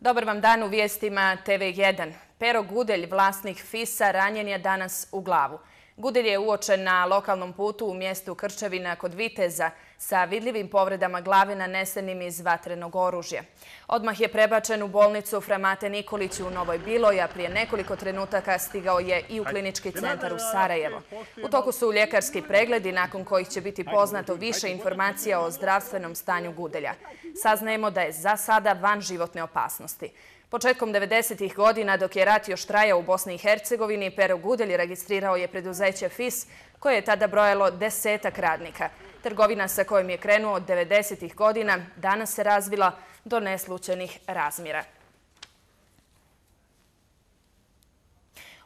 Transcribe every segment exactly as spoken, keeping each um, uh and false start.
Dobar vam dan u vijestima T V jedan. Pero Gudelj, vlasnik Fisa, ranjen je danas u glavu. Gudelj je uočen na lokalnom putu u mjestu Krčevina kod Viteza sa vidljivim povredama glave nanesenim iz vatrenog oružja. Odmah je prebačen u bolnicu Fra Mate Nikolić u Novoj Biloj, a prije nekoliko trenutaka stigao je i u klinički centar u Sarajevo. U toku su ljekarski pregledi nakon kojih će biti poznato više informacija o zdravstvenom stanju Gudelja. Saznajemo da je za sada van životne opasnosti. Početkom devedesetih godina, dok je rat još trajao u Bosni i Hercegovini, Pero Gudelj registrirao je preduzeće Fis, koje je tada brojalo desetak radnika. Trgovina sa kojom je krenuo od devedesetih godina danas se razvila do neslućenih razmjera.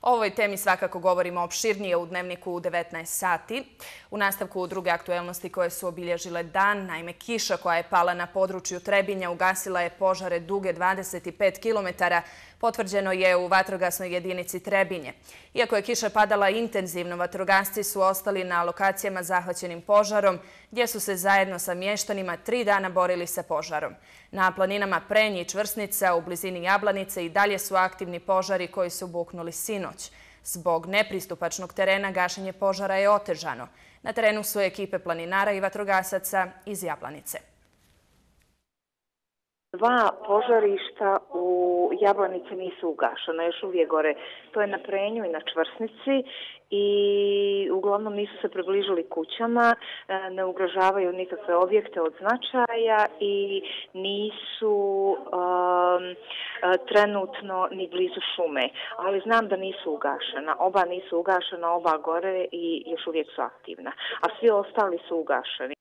O ovoj temi svakako govorimo opširnije u Dnevniku u devetnaest sati. U nastavku druge aktuelnosti koje su obilježile dan, naime kiša koja je pala na području Trebinja ugasila je požare duge dvadeset pet kilometara, potvrđeno je u vatrogasnoj jedinici Trebinje. Iako je kiša padala intenzivno, vatrogasci su ostali na lokacijama zahvaćenim požarom, gdje su se zajedno sa mještanima tri dana borili sa požarom. Na planinama Prenj i Čvrsnica u blizini Jablanice i dalje su aktivni požari koji su buknuli sinoć. Zbog nepristupačnog terena gašenje požara je otežano. Na terenu su ekipe planinara i vatrogasaca iz Jablanice. Dva požarišta u Jablanici nisu ugašena, još uvijek gore. To je na Prenju i na Čvrsnici i uglavnom nisu se približili kućama, ne ugrožavaju nikakve objekte od značaja i nisu um, trenutno ni blizu šume. Ali znam da nisu ugašena. Oba nisu ugašena, oba gore i još uvijek su aktivna. A svi ostali su ugašeni.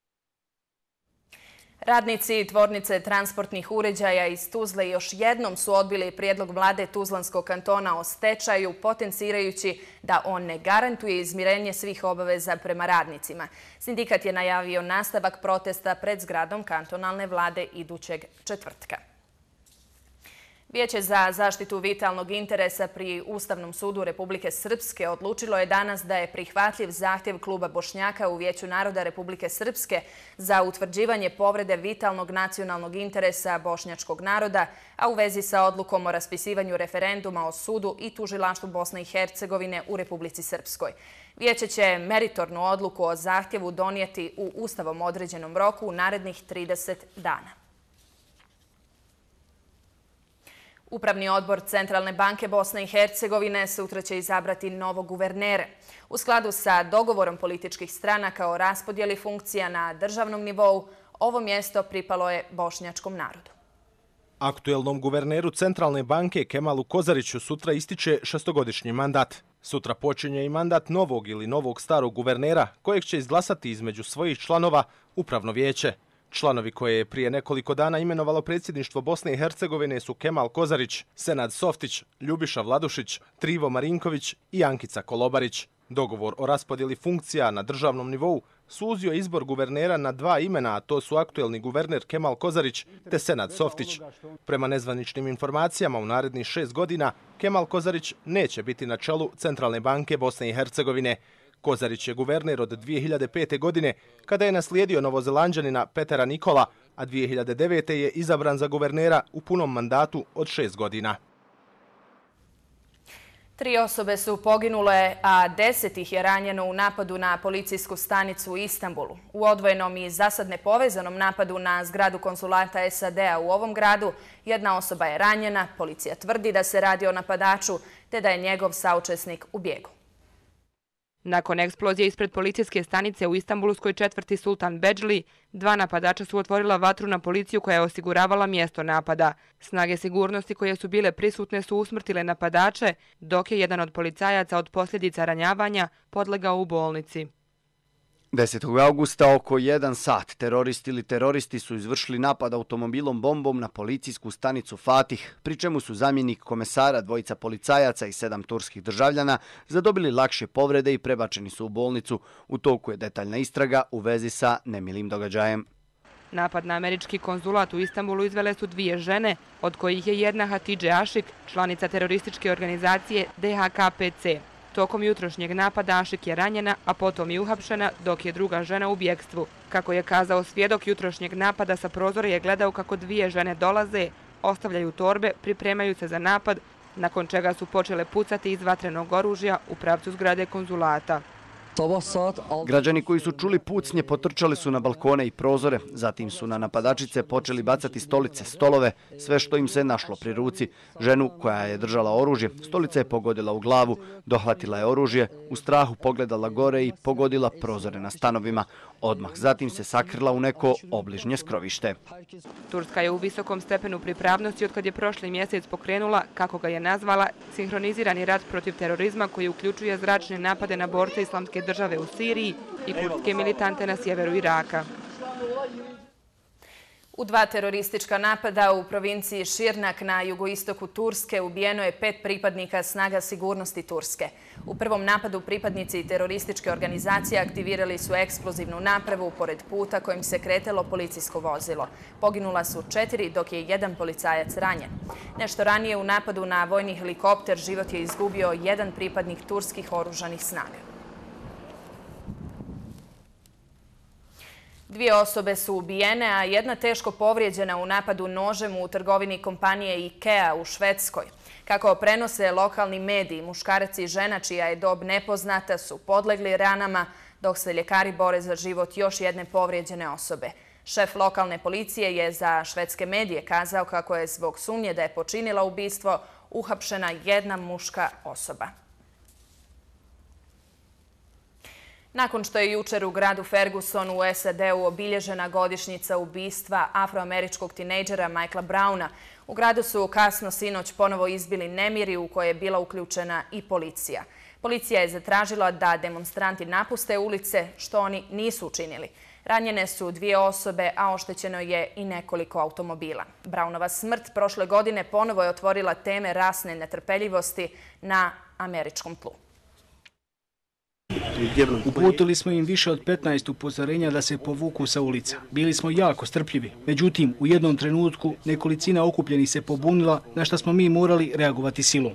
Radnici tvornice transportnih uređaja iz Tuzle još jednom su odbili prijedlog vlade Tuzlanskog kantona o stečaju, potencirajući da on ne garantuje izmirenje svih obaveza prema radnicima. Sindikat je najavio nastavak protesta pred zgradom kantonalne vlade idućeg četvrtka. Vijeće za zaštitu vitalnog interesa pri Ustavnom sudu Republike Srpske odlučilo je danas da je prihvatljiv zahtjev Kluba Bošnjaka u Vijeću naroda Republike Srpske za utvrđivanje povrede vitalnog nacionalnog interesa bošnjačkog naroda, a u vezi sa odlukom o raspisivanju referenduma o sudu i tužilaštvu Bosne i Hercegovine u Republici Srpskoj. Vijeće će meritornu odluku o zahtjevu donijeti u Ustavom određenom roku u narednih trideset dana. Upravni odbor Centralne banke Bosne i Hercegovine sutra će izabrati novog guvernera. U skladu sa dogovorom političkih stranaka o raspodjeli funkcija na državnom nivou, ovo mjesto pripalo je bošnjačkom narodu. Aktuelnom guverneru Centralne banke Kemalu Kozariću sutra ističe šestogodišnji mandat. Sutra počinje i mandat novog ili novog starog guvernera kojeg će izglasati između svojih članova Upravno vijeće. Članovi koje je prije nekoliko dana imenovalo predsjedništvo Bosne i Hercegovine su Kemal Kozarić, Senad Softić, Ljubiša Vladušić, Trivo Marinković i Ankica Kolobarić. Dogovor o raspodjeli funkcija na državnom nivou suzio izbor guvernera na dva imena, a to su aktuelni guverner Kemal Kozarić te Senad Softić. Prema nezvaničnim informacijama u narednih šest godina Kemal Kozarić neće biti na čelu Centralne banke Bosne i Hercegovine. Kozarić je guverner od dvije hiljade pete. godine, kada je naslijedio Novozelanđanina Petera Nikola, a dvije hiljade devete. je izabran za guvernera u punom mandatu od šest godina. Tri osobe su poginule, a deset ih je ranjeno u napadu na policijsku stanicu u Istanbulu. U odvojenom i zasad nepovezanom napadu na zgradu konsulata S A D-a u ovom gradu jedna osoba je ranjena, policija tvrdi da se radi o napadaču te da je njegov saučesnik u bijegu. Nakon eksplozije ispred policijske stanice u Istanbulskoj četvrti Sultan Bedžli, dva napadača su otvorila vatru na policiju koja je osiguravala mjesto napada. Snage sigurnosti koje su bile prisutne su usmrtile napadače, dok je jedan od policajaca od posljedica ranjavanja podlegao u bolnici. desetog augusta oko jedan sat teroristi ili teroristi su izvršili napad automobilom bombom na policijsku stanicu Fatih, pri čemu su zamjenik komesara, dvojica policajaca i sedam turskih državljana zadobili lakše povrede i prebačeni su u bolnicu. U toku je detaljna istraga u vezi sa nemilim događajem. Napad na američki konzulat u Istanbulu izvele su dvije žene, od kojih je jedna Hatidže Ašik, članica terorističke organizacije D H K P C. Tokom jutrošnjeg napada Ašik je ranjena, a potom i uhapšena, dok je druga žena u bjegstvu. Kako je kazao svjedok jutrošnjeg napada, sa prozora je gledao kako dvije žene dolaze, ostavljaju torbe, pripremaju se za napad, nakon čega su počele pucati iz vatrenog oružja u pravcu zgrade konzulata. Građani koji su čuli pucnje potrčali su na balkone i prozore, zatim su na napadačice počeli bacati stolice, stolove, sve što im se našlo pri ruci. Ženu koja je držala oružje, stolica je pogodila u glavu, dohvatila je oružje, u strahu pogledala gore i pogodila prozore na stanovima. Odmah zatim se sakrila u neko obližnje skrovište. Turska je u visokom stepenu pripravnosti otkad je prošli mjesec pokrenula, kako ga je nazvala, sinhronizirani rat protiv terorizma koji uključuje zračne napade na borce Islamske države u Siriji i kurdske militante na sjeveru Iraka. U dva teroristička napada u provinciji Širnak na jugoistoku Turske ubijeno je pet pripadnika snaga sigurnosti Turske. U prvom napadu pripadnici terorističke organizacije aktivirali su eksplozivnu napravu pored puta kojim se kretalo policijsko vozilo. Poginula su četiri, dok je jedan policajac ranjen. Nešto ranije u napadu na vojni helikopter život je izgubio jedan pripadnik turskih oružanih snaga. Dvije osobe su ubijene, a jedna teško povrijeđena u napadu nožem u trgovini kompanije IKEA u Švedskoj. Kako prenose lokalni mediji, muškarac i žena čija je dob nepoznata su podlegli ranama, dok se ljekari bore za život još jedne povrijeđene osobe. Šef lokalne policije je za švedske medije kazao kako je zbog sumnje da je počinila ubistvo uhapšena jedna muška osoba. Nakon što je jučer u gradu Ferguson u S A D-u obilježena godišnjica ubistva afroameričkog tinejdžera Michaela Browna, u gradu su kasno sinoć ponovo izbili nemiri u koje je bila uključena i policija. Policija je zatražila da demonstranti napuste ulice, što oni nisu učinili. Ranjene su dvije osobe, a oštećeno je i nekoliko automobila. Brownova smrt prošle godine ponovo je otvorila teme rasne netrpeljivosti na američkom tlu. Uputili smo im više od petnaest upozorenja da se povuku sa ulica. Bili smo jako strpljivi. Međutim, u jednom trenutku nekolicina okupljenih se pobunila, na što smo mi morali reagovati silom.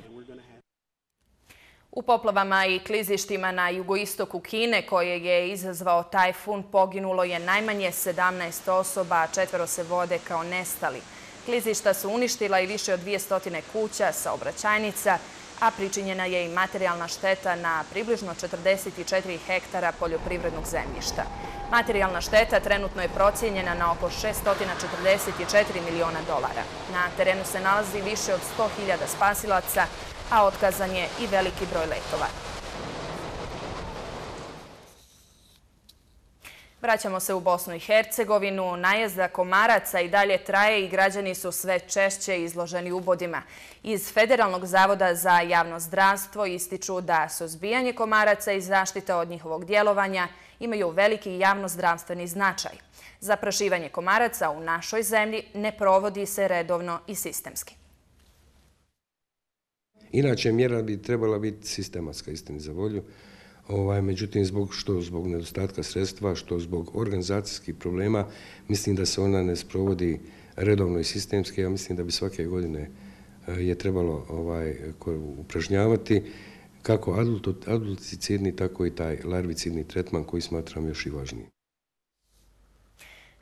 U poplavama i klizištima na jugoistoku Kine, koje je izazvao tajfun, poginulo je najmanje sedamnaest osoba, a četvero se vode kao nestali. Klizišta su uništila i više od dvjesto kuća, saobraćajnica, a pričinjena je i materijalna šteta na približno četrdeset četiri hektara poljoprivrednog zemljišta. Materijalna šteta trenutno je procijenjena na oko šesto četrdeset četiri miliona dolara. Na terenu se nalazi više od sto hiljada spasilaca, a otkazan je i veliki broj letova. Vraćamo se u Bosnu i Hercegovinu. Najezda komaraca i dalje traje i građani su sve češće izloženi ubodima. Iz Federalnog zavoda za javno zdravstvo ističu da suzbijanje komaraca i zaštita od njihovog djelovanja imaju veliki javnozdravstveni značaj. Zaprašivanje komaraca u našoj zemlji ne provodi se redovno i sistemski. Inače, mjera bi trebala biti sistematska, istini za volju. Ovaj, međutim, zbog, što zbog nedostatka sredstva, što zbog organizacijskih problema, mislim da se ona ne sprovodi redovno i sistemski. Ja mislim da bi svake godine je trebalo ovaj, upražnjavati kako adulticidni, tako i taj larvicidni tretman koji smatram još i važniji.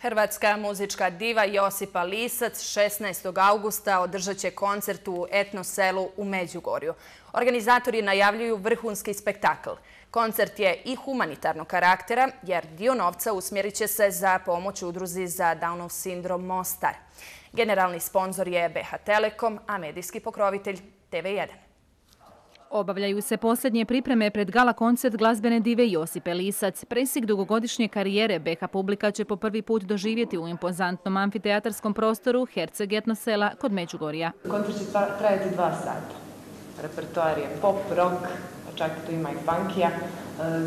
Hrvatska muzička diva Josipa Lisac šesnaestog augusta održat će koncert u etno selu u Međugorju. Organizatori najavljuju vrhunski spektakl. Koncert je i humanitarnog karaktera, jer dio novca usmjerit će se za pomoć udruzi za Downov sindrom Mostar. Generalni sponzor je B H Telekom, a medijski pokrovitelj T V jedan. Obavljaju se posljednje pripreme pred gala koncert glazbene dive Josipe Lisac. Presjek dugogodišnje karijere B H publika će po prvi put doživjeti u impozantnom amfiteatarskom prostoru Herceg etno sela kod Međugorja. Koncert će trajati dva sata. Repertoar je pop, rock, čak tu ima i funkija.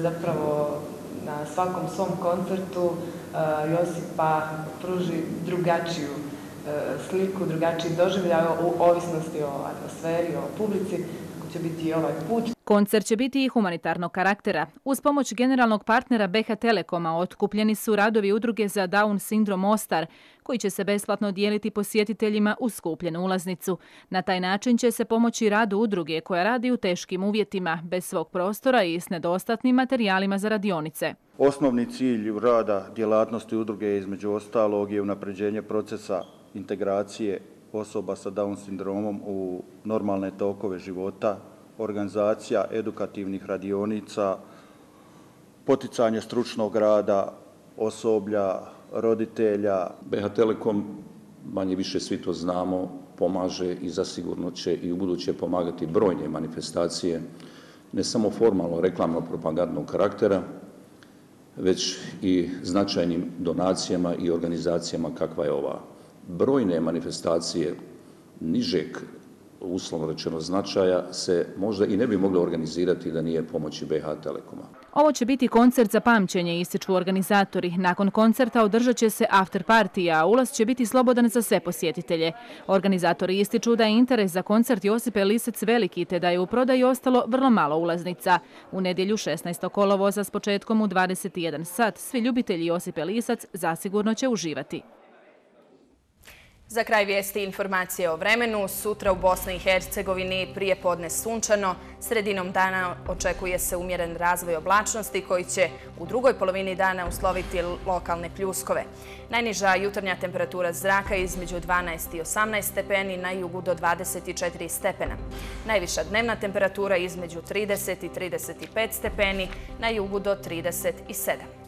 Zapravo na svakom svom koncertu Josipa pruži drugačiju sliku, drugačiji doživljaj u ovisnosti o atmosferi, o publici. Će biti i ovaj put. Koncert će biti i humanitarnog karaktera. Uz pomoć generalnog partnera B H Telekoma otkupljeni su radovi udruge za Down sindrom Mostar, koji će se besplatno dijeliti posjetiteljima uz skupljenu ulaznicu. Na taj način će se pomoći radu udruge koja radi u teškim uvjetima, bez svog prostora i s nedostatnim materijalima za radionice. Osnovni cilj rada djelatnosti udruge između ostalog je unapređenje procesa integracije osoba sa Down sindromom u normalne tokove života, organizacija edukativnih radionica, poticanje stručnog rada, osoblja, roditelja. B H Telekom, manje više svi to znamo, pomaže i zasigurno će i u buduće pomagati brojne manifestacije, ne samo formalno reklamno propagandnog karaktera, već i značajnim donacijama i organizacijama kakva je ova. Brojne manifestacije nižeg, uslovno rečeno, značaja se možda i ne bi mogle organizirati da nije pomoći B H Telekoma. Ovo će biti koncert za pamćenje, ističu organizatori. Nakon koncerta održat će se after party, a ulaz će biti slobodan za sve posjetitelje. Organizatori ističu da je interes za koncert Josipe Lisac veliki, te da je u prodaji ostalo vrlo malo ulaznica. U nedjelju šesnaestog kolovoza s početkom u dvadeset jedan sat svi ljubitelji Josipe Lisac zasigurno će uživati. Za kraj vijesti informacije o vremenu. Sutra u Bosni i Hercegovini prije podne sunčano. Sredinom dana očekuje se umjeren razvoj oblačnosti koji će u drugoj polovini dana usloviti lokalne pljuskove. Najniža jutarnja temperatura zraka između dvanaest i osamnaest stepeni, na jugu do dvadeset četiri stepena. Najviša dnevna temperatura između trideset i trideset pet stepeni, na jugu do trideset sedam.